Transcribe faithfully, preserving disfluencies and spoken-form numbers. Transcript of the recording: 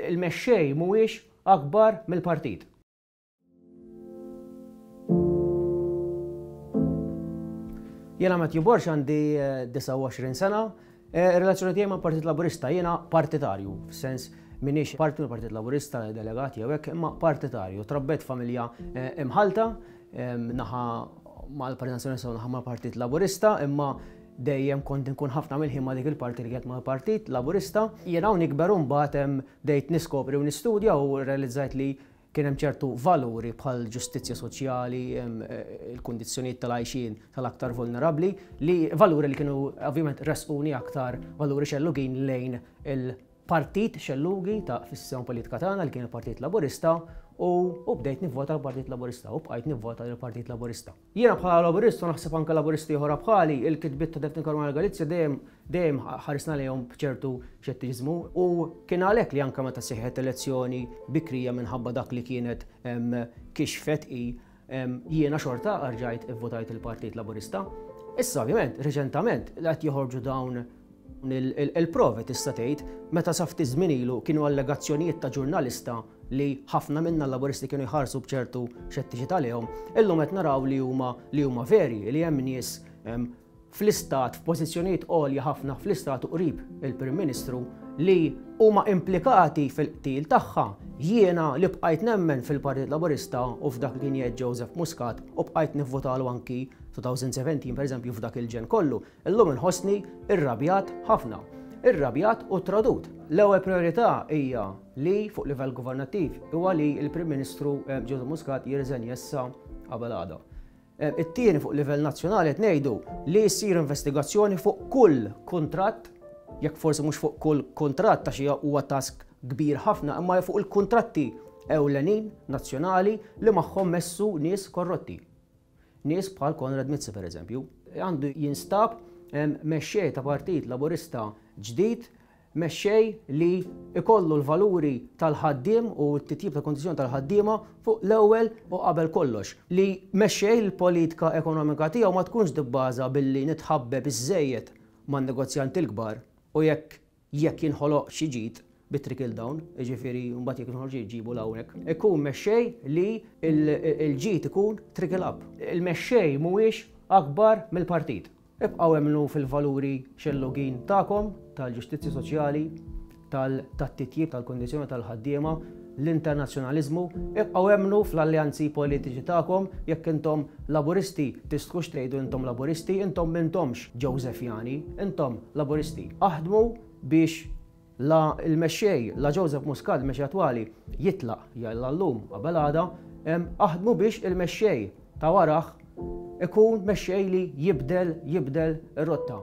Il-mexxej mhuwiex akbar mill-partit. Jiena Matthew Borg, għandi disgħa u għoxrin sena. Ir-relazzjoni tiegħi mal-Partit Laburista, jiena partitarju, f'sens m'iniex parti mill-Partit Laburista, delegati jew hekk, imma partitarju. Trabbejt familja imħalta, naħa mal-Partit Nazzjonalista u naħa mal-Partit Laburista, imma dejjem kont inkun ħafna mill-ħin ma' dik il-parti li kienet mal-Partit Laburista. Jiena hawn nikber u mbagħad bdejt niskopri u nistudja u realizzajt li kien hemm ċertu valuri bħal ġustizzja soċjali, il-kundizzjonijiet tal-għajxien tal-aktar vulnerabbli, li valuri li kienu ovvjament resquni aktar valuri xellugin lejn il-partit xellugi ta' fis-sistema politika tagħna li kien il-Partit Laburista, u, u bdejt nivvota l-Partit Laburista u bqajt nivvota l-Partit Laburista. Jiena bħala Laburista u naħseb anke Laburisti oħra bħali, il-kitbiet ta' Daphne Caruana Galizia dejjem, dejjem ħarisna lejhom b'ċertu xettiċiżmu, u kien għalhekk li anke meta seħħet elezzjoni bikrija minħabba dak li kienet, em, kixfet i, em, jiena xorta rġajt ivvotajt il-Partit Laburista. Issa ovvjament, reċentament, qed joħorġu dawn il-, il-, il-provi tista' tgħid, meta sa ftit żmien ilu kienu allegazzjonijiet ta' ġurnalista li ħafna minna l-Laburisti kienu jħarsu b'ċertu xettiċità lejhom, illum qed naraw li huma, li huma veri, li hemm nies, em, fl-istat, f'pożizzjonijiet għolja ħafna fl-istat u qrib il-Prim Ministru li huma implikati fil-qtil tagħha. Jiena li bqajt nemmen fil-Partit Laburista u f'dak li kien jgħid Joseph Muscat u bqajt nivvotalu anki twenty seventeen pereżempju f'dak il-ġen kollu, illum inħossni irrabjat ħafna. Irrabjat u tradut. L-ewwel priorità hija li fuq livell governattiv huwa li l-Prim Ministru, eh, Joseph Muscat jirriżenja issa qabel għada. Eh, it-tieni fuq livell nazzjonali qed ngħidu li jsir investigazzjoni fuq kull kuntratt, jekk forsi mhux fuq kull kuntratt għax hija huwa task kbir ħafna, imma fuq il-kuntratti ewlenin nazzjonali li magħhom messu nies korrotti. Nies bħal Konrad Mizzi pereżempju. Għandu jinstab, em, mexxej ta' Partit Laburista ġdid, mexxej li ikollu l-valuri tal-ħaddiem u t-titjib ta' kondizzjoni tal-ħaddiema fuq l-ewwel u qabel kollox. Li mexxej l-politika ekonomika tiegħu ma tkunx tibbaża billi nitħabbeb iżżejjed man-negozjanti l-kbar u jekk, jekk jinħoloq xi ġid bit-trickle down, jiġifieri mbagħad jekk jinħoloq ġid ġibu l-hawnhekk. Ikun mexxej li il-, il-ġid ikun trickle up. Il-mexxej mhuwiex akbar mill-partit. Ibqgħu emmnu fil-valuri xellugin tagħkom, tal-ġustizzja soċjali, tal-, tat-titjib tal-kondizzjoni tal-ħaddiema, l-internazzjonaliżmu, ibqgħu emmnu fl-alleanzi politiċi tagħkom. Jekk intom Laburisti, tistgħux tgħidu intom Laburisti, intom m'intomx Josefjani, intom Laburisti. Aħdmu biex la il-mexxej, la Joseph Muscat, il-mexxej attwali, jitlaq jalla llum qabel għada, em, aħdmu biex il-mexxej ta' waraħ ikun mexxej li jibdel, jibdel ir-rotta.